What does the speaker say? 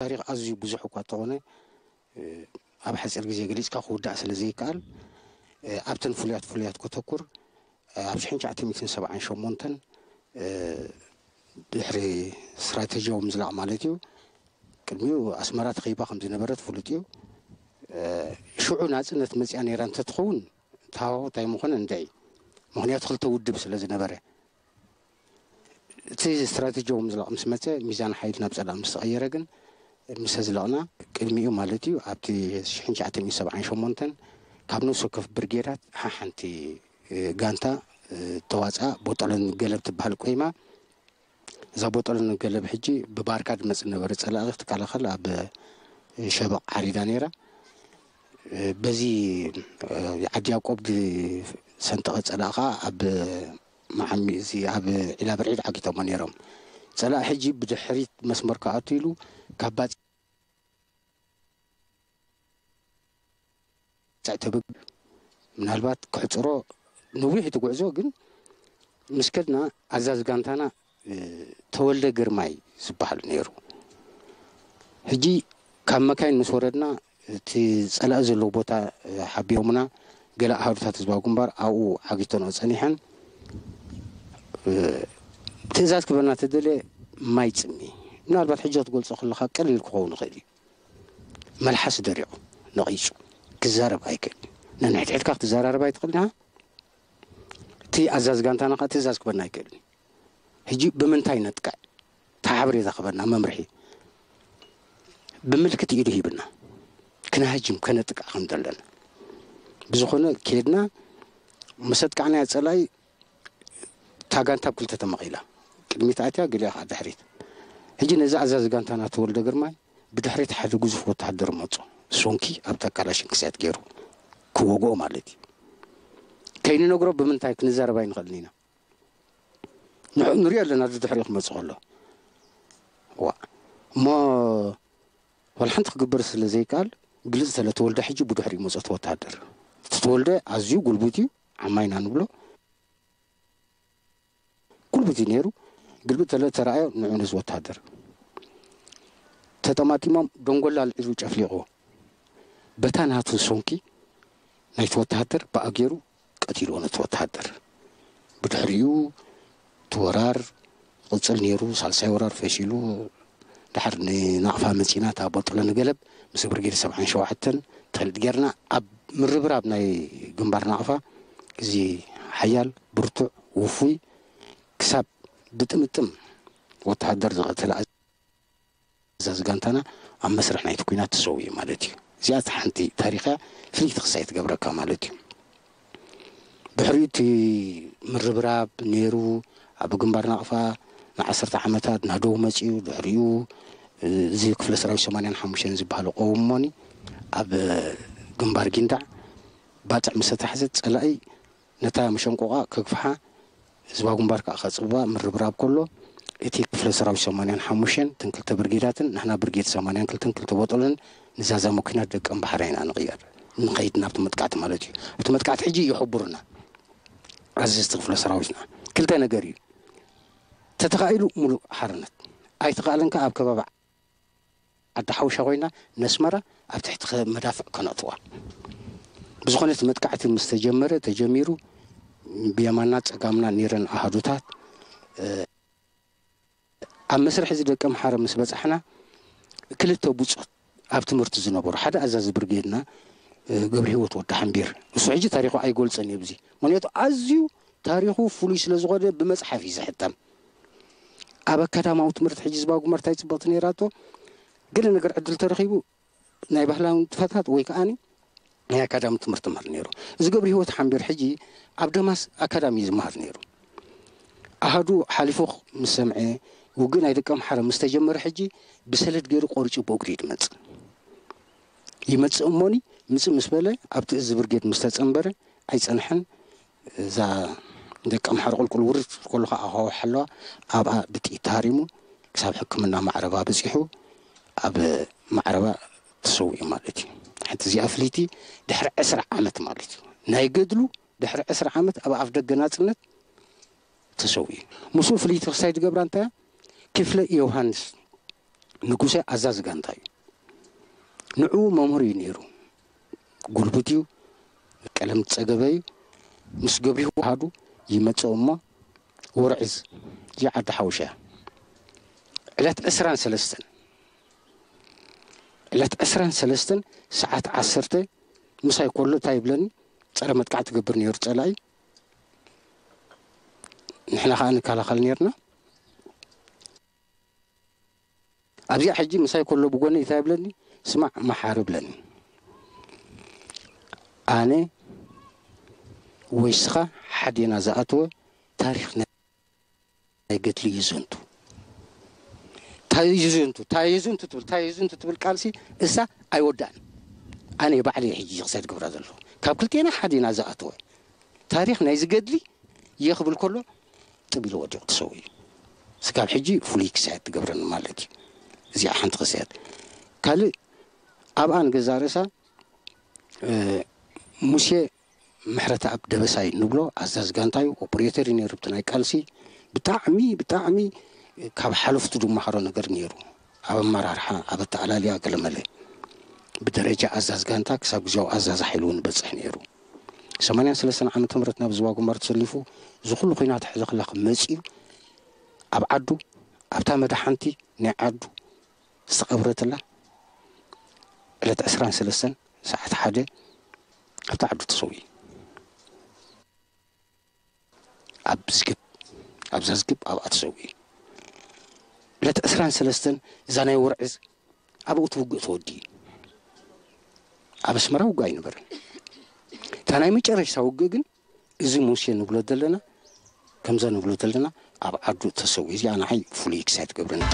ታሪኽ ኣዝዩ ብዙሕ እኳ እንተኾነ፣ እ፣ ኣብ ሓፂር ግዜ ገሊፅካ ክውዳእ ስለ ዘይከኣል፣ እ፣ ኣብተን ፍሉያት ፍሉያት ከተኩር፣ እ፣ ኣብ ሽሕን ትሽዓተ ሚእትን ሰብዓን ሸሞንተን፣ እ፣ ድሕሪ ስትራተጂያዊ ምዝላቕ ማለት እዩ፣ ቅድሚኡ ኣስመራ ተኸቢባ ከም ዝነበረ ትፍሉጥ እዩ። እ፣ ሽዑ ናጽነት መጺኣ ነይራ እንተትኸውን፣ እቲ ሃዋሁ እንታይ ምኾነ እንድዒ። ምኽንያቱ ክልተ ውድብ ስለ ዝነበረ። እቲ ስትራተጂያዊ ምዝላቕ ምስ መጸ፣ ሚዛን ሓይሊ ናብ ጸላእ ምስ ተቐየረ ግን፣ ምስ ኣዝለቕና፣ ቅድሚኡ ማለት እዩ፣ ኣብቲ ሽሕን ትሽዓተ ሚእትን ሰብዓን ሸሞንተን ካብ ነፍሲ ወከፍ ብርጌዳት ሓሓንቲ፣ እ፣ ጋንታ፣ እ፣ ተዋጽኣ፣ ቦጦለን ገለብ ትበሃል ቆይማ። እዛ ቦጦለን ገለብ ሕጂ ብባርካ ዝመጽእ ነበረ ጸላኢ ክትከላኸል ኣብ ሸበቕ ዓሪዳ ነይራ። እ፣ በዚ፣ እ፣ ዓዲ ያዕቆብ ዝሰንጠቐ ጸላኢ ከኣ ኣብ መዓሚ፣ እዚ ኣብ ዒላ ብርዒድ ዓጊቶሞ ነይሮም። ጸላኢ ሕጂ ብድሕሪት መስመር ክኣቱ ኢሉ ካብ ባጽዕ ተበግ-፣ ምናልባት ክሕጽሮ ነዊሕ እቲ ጉዕዞ፣ ግን ምስ ከድና ኣዛዚ ጋንታና፣ እ፣ ተወልደ ግርማይ ዝበሃል ነይሩ። ሕጂ ካብ መካይን ምስ ወረድና፣ እቲ ጸላኢ ዘለዎ ቦታ፣ እ፣ ሓቢኦምና፣ ገለ ኣሃዱታት ህዝባዊ ግንባር ኣብኡ ዓጊተንኦ ጸኒሐን። እ፣ ትእዛዝ ክበና ተደልየ፣ ማይ ጽሚ። ምናልባት ሕጂ ክትገልጾ ከለኻ ቀሊል ክኸውን ይኽእል እዩ። መልሓስ ደሪቑ፣ ነቒጹ፣ ክዛረብ ኣይክእልን። ነንሕድሕድካ ክትዘራረብ ኣይትኽእልን ኢኻ። እቲ ኣዛዚ ጋንታና ከኣ ትእዛዝ ክበና ኣይክእልን። ሕጂ ብምንታይ ነጥቅዕ? እቲ ሓበሬታ ክበና፣ መምርሒ ብምልክት ኢዱ ሂብና፣ ክነሃጅም፣ ከነጥቅዕ ከም ዘለና። ብዝኾነ፣ ኬድና፣ ምስ ኣጥቃዕናዮ ጸላኢ፣ እታ ጋንታ ኣብ ክልተ ተመቒላ። ቅድሚት ኣትያ፣ ገሊኣ ከኣ ድሕሪት። ሕጂ ነዚ ኣዛዚ ጋንታና ተወልደ ግርማይ ብድሕሪት ሓደ ግዙፍ ወተሃደር መጾ። ሶንኪ ኣብታ ካላሽን ክስያት ገይሩ ክወግኦ ማለት እዩ። ከይንነግሮ ብምንታይ ክንዛረብ ኣይንኽእልን ኢና። ንዕ-፣ ንሪኦ ኣለና፣ ድድሕሪኡ ክመጽእ ከሎ። ዋ፣ እሞ ዋላ ሓንቲ ክግበር ስለ ዘይከኣል፣ ግልጽ ተለ ተወልደ ሕጂ ብድሕሪኡ መጾ እቲ ወተሃደር። እቲ ተወልደ ኣዝዩ ጉልቡት እዩ፣ ዓማይና ንብሎ። ጉልቡት እዩ ነይሩ። ግልብጥ ተለ ተራእዮ፣ ንዑ ነዚ ወተሃደር። ተጠማጢሞም፣ ደንጎላ ኣልዒሉ ጨፍሊቑዎ። በታ ናቱ ሶንኪ ናይቲ ወተሃደር ብኣ ገይሩ ቀቲልዎ ነቲ ወተሃደር። ብድሕሪኡ እቲ ወራር ይቕጽል ነይሩ። ሳልሳይ ወራር ፈሺሉ፣ ድሓር ንናቕፋ መጺና፣ እታ ቦጦለ ንገለብ ምስ ብርጌድ ሰብዓን ሸውዓተን ትፈልጥ ጌርና፣ ኣብ ምርብራብ ናይ ግንባር ናቕፋ፣ እዚ ሓያል፣ ብርቱዕ፣ ውፉይ፣ ክሳብ ብጥምጥም ወተሃደር ዝቐተለ ኣዛዚ ጋንታና ኣብ መስርሕ ናይቲ ኲናት ተሰዊኡ ማለት እዩ። እዚኣ እታ ሓንቲ ታሪኽ እያ፣ ፍልይቲ ክሳይ ትገብረካ ማለት እዩ። ድሕሪኡ እቲ ምርብራብ ነይሩ፣ ኣብ ግንባር ናቕፋ ንዓሰርተ ዓመታት ናደው መጺኡ። ድሕሪኡ እዚ ክፍለ ሰራዊት ሰማንያን ሓሙሽተን ዝበሃል ቆውሞኒ ኣብ ግንባር ጊንዳዕ ባጽዕ ምስ ተታሕዘት፣ ጸላኢ ነታ መሸንቆቓ ከግፍሓ፣ ህዝባዊ ግንባር ከኣ ከጽብባ ምርብራብ ከሎ፣ እቲ ክፍለ ሰራዊት ሰማንያን ሓሙሽተን፣ እተን ክልተ ብርጌዳትን ንሕና ብርጌድ ሰማንያን ክልተን ክልተ ቦጦለን ንዛዛ መኪና ደቀም ባሕራ ኢና ንቕየር። ንኸይድ ናብቲ መጥቃዕቲ ማለት እዩ። ኣብቲ መጥቃዕቲ ሕጂ ይሕቡርና ኣዘዝቲ ክፍለ ሰራዊትና። ክልተ ነገር እዩ። ተተኻኢሉ ሙሉእ ሓርነት፣ ኣይተኻእለን ከኣ ኣብ ከባቢ ዓዲ ሓውሻ ኮይና ነስመራ ኣብ ትሕቲ ከ-፣ መዳፍዕ ከነእትዋ። ብዝኾነ እቲ መጥቃዕቲ ምስ ተጀመረ፣ ተጀሚሩ፣ ብየማና ጸጋምና ነይረን ኣሃዱታት፣ እ፣ ኣብ መስርሕ እዚ ደቀ ምሓረ ምስ በጻሕና፣ ክልተ ብጾት ኣብ ትምህርቲ ዝነበሩ፣ ሓደ ኣዛዚ ብርጌድና፣ እ፣ ገብረ ህይወት ወዲ ሓምቢር፣ እሱ ሕጂ ታሪኹ ኣይገልጸን እየ ብዚ፣ ምኽንያቱ ኣዝዩ ታሪኹ ፍሉይ ስለ ዝኾነ ብመጽሓፍ እዩ ዝሕተም። ኣብ ኣካዳማዊ ትምህርቲ ሕጂ ህዝባዊ ግንባር እንታይ ጽብቕቲ ነይራቶ፣ ገለ ነገር ዕድል ተረኺቡ ናይ ባህላዊ ንጥፈታት ወይ ከኣኒ ናይ ኣካዳሚ ትምህርቲ ይመሃር ነይሩ። እዚ ገብረ ህይወት ሓምቢር ሕጂ ኣብ ደማስ ኣካዳሚ እዩ ዝመሃር ነይሩ። ኣሃዱ ሓሊፉ ምስ ሰምዐ፣ ውግእ ናይ ደቀ ምሓረ ምስ ተጀመረ ሕጂ ብሰለድ ገይሩ ቆሪጹ ብእግሩ እዩ ዝመጽእ። ይመጽእ እሞኒ ምጽእ ምስ በለ ኣብቲ እዚ ብርጌድ ምስ ተጸንበረ ኣይጸንሐን። እዛ ደቀ ምሓረ ቁልቁል ውርድ ከሎ ከኣ ኣኻውሕ ኣለዋ። ኣብኣ ብጥይት ተሃሪሙ ክሳብ ሕክምና ማዕረባ በጺሑ ኣብ ማዕረባ ተሰዊኡ ማለት እዩ። ሓንቲ እዚኣ ፍልይቲ ድሕሪ ዕስራ ዓመት ማለት እዩ። ናይ ገድሉ ድሕሪ ዕስራ ዓመት ኣብ ኣፍ ደገ ናጽነት ተሰዊኡ። ምስኡ ፍልይቲ ክሳይ ዝገብራ እንታይ እያ? ክፍለ ዮሃንስ ንጉሰ ኣዛዚ ጋንታ እዩ። ንዕኡ መምህር እዩ ነይሩ። ጉልቡት እዩ፣ ቀለም ዝጸገበ እዩ። ምስ ገብሪሁ ዋሃዱ ይመጽእ እሞ፣ ወርዕዝ እዚኣ ዓዲ ሓውሻ እያ። ዕለት ዕስራን ሰለስተን ዕለት ዕስራን ሰለስተን ሰዓት ዓሰርተ ምሳይ ኮሎ እንታይ ይብለኒ? ጸረ መጥቃዕቲ ትገብር ነይሩ ጸላኢ፣ ንሕና ከኣ ንከላኸል ነርና። ኣብዚኣ ሕጂ ምሳይ ኮሎ ብጎኒ እንታይ ይብለኒ? ስማዕ መሓሪ ብለኒ። ኣነ ወይ ስኻ ሓዴና ዝኣተወ ታሪኽ ናይ ገድሊ ይዘንቱ። ታይዝንቱ ታይዝንቱ ትብል ታይዝንቱ ትብል ቃልሲ እሳ ኣይወዳእን። ኣነ ባዕለይ ሕጂ ክሳድ ግብራ ዘለኹ ካብ ክልቴና ሓዴና ዝኣተወ ታሪኽ ናይ ዝገድሊ የኽብል ከሎ ጥብ ኢሉ ወዲቑ ተሰው እዩ። ስካብ ሕጂ ፍሉይ ክሳየት ትገብረኒ ማለት እዩ። እዚኣ ሓንቲ ክሳየት። ካልእ ኣብኣ ንገዛ ርእሳ ሙሴ ምሕረተኣብ ደበሳይ ንብሎ ኣዛዝ ጋንታ እዩ። ኦፕሬተር እዩ ነይሩ። ብቲ ናይ ቃልሲ ብጣዕሚ ብጣዕሚ ካብ ሓለፍቱ ዝመሃሮ ነገር ነይሩ። ኣብ ኣመራርሓ፣ ኣብ ኣተኣላልያ ገለመለ ብደረጃ ኣዛዝ ጋንታ ክሳብ ግዜያዊ ኣዛዝ ሓይሉ እውን በፅሕ ነይሩ። ሰማንያን ሰለስተን ዓመተ ምህረት ናብ ዝዋ ግንባር ተሰሊፉ እዚ ኩሉ ኩናት ሕዚ ክላኽ መፂኡ ኣብ ዓዱ ኣብታ መድሓንቲ ናይ ዓዱ ዝተቐብረትላ ዕለት ዕስራን ሰለስተን ሰዓት ሓደ ኣብቲ ዓዱ ተሰዊኡ። ኣብ ዝግብ ኣብዛ ዝግብ ኣብኣ ተሰዊኡ። ዕለት ዕስራን ሰለስተን እዛ ናይ ወርዕዝ ኣብኡ እቲ ውግእ ተወዲኡ። ኣብ ኣስመራ ውግእ ኣይነበረን። እታ ናይ መጨረሽታ ውግእ ግን እዚ ሙሴ ንብሎ ዘለና ከምዛ ንብሎ ዘለና ኣብ ዓዱ ተሰዊኡ። እዚኣ ንዓይ ፍሉይ ክሳይ ትገብረኒ።